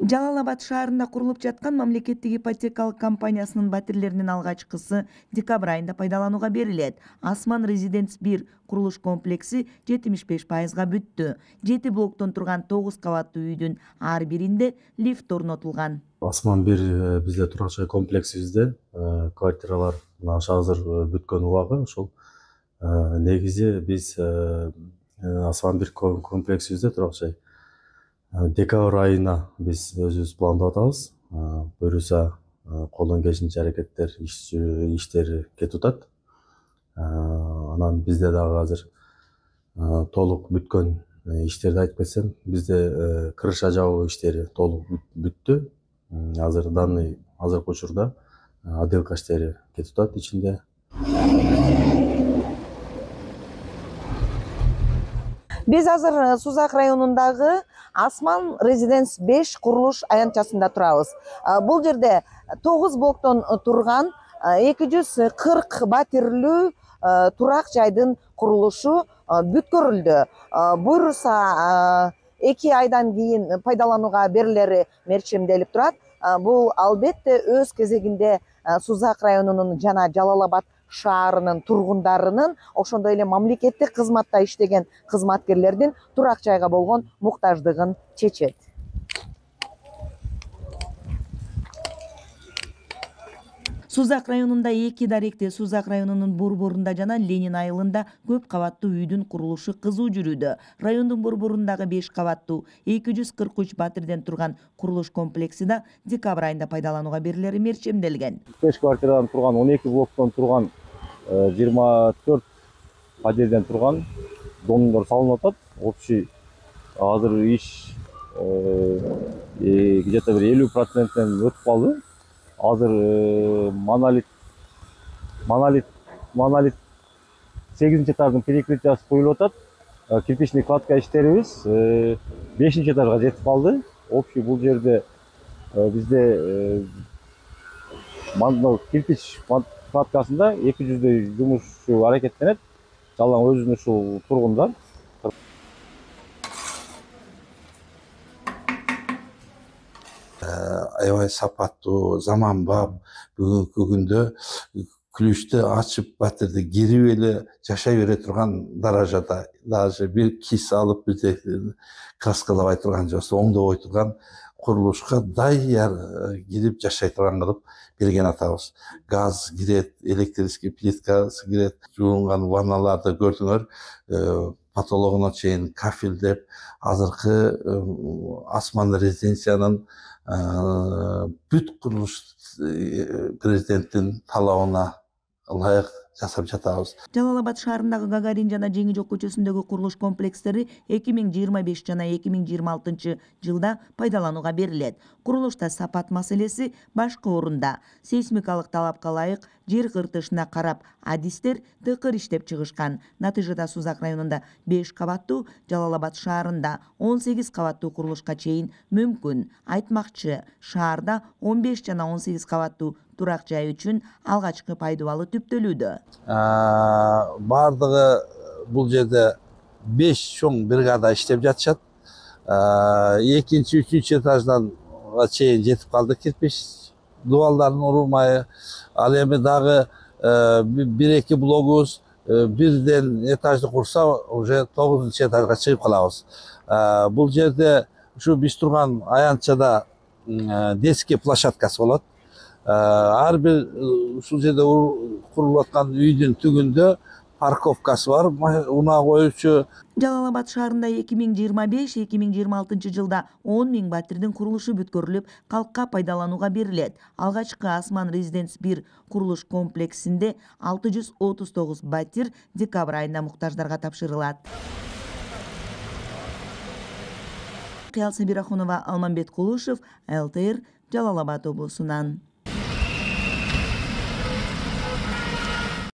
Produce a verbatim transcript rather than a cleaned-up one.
Жалал Абад шаарында курулуп жаткан мамлекеттик ипотекалык компаниясынын батирлеринин алгачкысы декабрь айында пайдаланууга берилет. Асман Резиденс бир курулуш комплекси жетимиш беш пайызга бүттү. жети блоктон турган тогуз кабаттуу үйдүн ар биринде лифт орнотулган. Асман бир бизде турак жай комплексибизде квартиралар азыр бүткөн убагы ошол негизи биз Асман бир комплексибизде турак жай декабрь айына биз өзүбүз пландап атабыз. Буюрса колдон келишинче аракеттер иштери кетип атат. Анан бизде дагы азыр толук бүткөн иштерди айтып кетсем, бизде крыша жабуу иштери толук бүттү. Азыр данный азыркы учурда отделка иштери кетип атат ичинде. Биз азыр Сузак районундагы Асман Резиденс беш курулуш аянтчасында турабыз. Бул жерде тогуз блоктон турган эки жүз кырк батирлүү турак жайдын курулушу бүткөрүлдү. Буюрса эки айдан кийин пайдаланууга берилери мерчемделип турат. Бул албетте өз кезегинде Сузак районунун жана Жалал Абад шаарынын тургундарынын, ошондой эле мамлекеттик кызматта иштеген кызматкерлердин турак жайга болгон муктаждыгын чечет. Сузак районунда эки даректе Сузак районунун борборунда жана Ленин айылында көп кабаттуу үйдүн курулушу кызуу жүрүүдө. Райондун борборундагы беш кабаттуу эки жүз кырк үч батирден турган курулуш комплекси да декабрь айында пайдаланууга берилери мерчемделген. беш квартирадан турган, он эки блоктон турган, жыйырма төрт пәтерден турган домдор салынып атат. Общий азыр иш где-то бир элүү проценттен өтүп калды. Азыр монолит монолит монолит сегизинчи этаждын перекрытиясы коюлуп атат. Кирпичный кладка иштерибиз бешинчи этажга жетип калды. Общий бул жерде бизде кирпич кладкасында эки жүздөй жумушчу аракеттенет. Жалаң өзүнүн ушул тургундар. Аябай сапаттуу, заманбап, бүгүнкү күндө күлүштү ачып батирди кирип эле жашай бере турган даражада, даже бир кис алып бир краскалабай турган же болбосо оңдобой турган курулушка даяр кирип жашай турган кылып берген атабыз. Газ кирет, электрический плиткасы кирет, жуулган ванналарды көрдүңөр, потологуна чейин кафелдеп, азыркы Асман резиденциянын бүт курулуш президенттин талабына ылайык жасап жатабыз. Жалал Абад шаарындагы Гагарин жана Жеңи Жок көчөсүндөгү курулуш комплекстери эки миң жыйырма беш жана эки миң жыйырма алтынчы жылда пайдаланууга берилет. Курулушта сапат маселеси башкы орунда. Сейсмикалык талапка ылайык жер кыртышына карап адистер тыкыр иштеп чыгышкан. Натыйжада Сузак районунда беш кабаттуу, Жалал Абад шаарында он сегиз кабаттуу курулушка чейин мүмкүн. Айтмакчы, шаарда он беш жана он сегиз кабаттуу турак жай үчүн алгачкы пайдубалы түптөлүүдө. Бардыгы бул жерде беш чоң бригада иштеп жатышат. Экинчи, үчүнчү этаждан чейин жетип калды кирпич дубалдардын урулмайы. Ал эми дагы бир эки блогубуз бирден этажды курса, уже тогузунчу этажга чыгып калабыз. Бул жерде ушу биз турган аянтчада детский площадкасы болот. Ар бир ушул жерде курулуп аткан үйдүн түгүндө парковкасы бар, унаа коюучу. Жалал Абад шаарында эки миң жыйырма беш эки миң жыйырма алтынчы жылда он миң батирдин курулушу бүткөрүлүп, калкка пайдаланууга берилет. Алгачкы Асман Резиденс бир курулуш комплексинде алты жүз отуз тогуз батир декабрь айында муктаждарга тапшырылат. Кыял Сабирахунова, Алмамбет Кулушев, эл тэ эр, Жалал Абад облусунан.